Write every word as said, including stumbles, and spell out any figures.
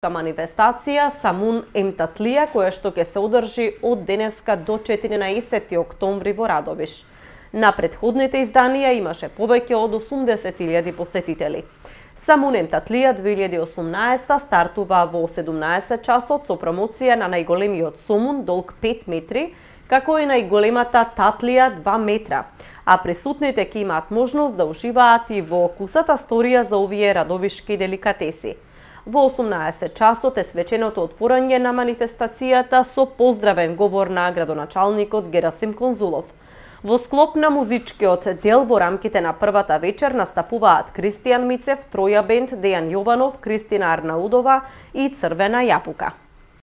музичка манифестација Самун Емтатлија, која што ќе се одржи од денеска до четиринаесети октомври во Радовиш. На претходните изданија имаше повеќе од осумдесет илјади посетители. Самун Емтатлија две илјади и осумнаесета стартува во седумнаесет часот со промоција на најголемиот сомун долг пет метри, како и најголемата татлија два метра, а присутните ќе имаат можност да уживаат и во кусата сторија за овие радовишки деликатеси. Во осумнаесет часот е свеченото отворање на манифестацијата со поздравен говор на градоначалникот Герасим Конзулов. Во склоп на музичкиот дел во рамките на првата вечер настапуваат Кристијан Мицев, Троја бенд, Дејан Јованов, Кристина Арнаудова и Црвена јапука.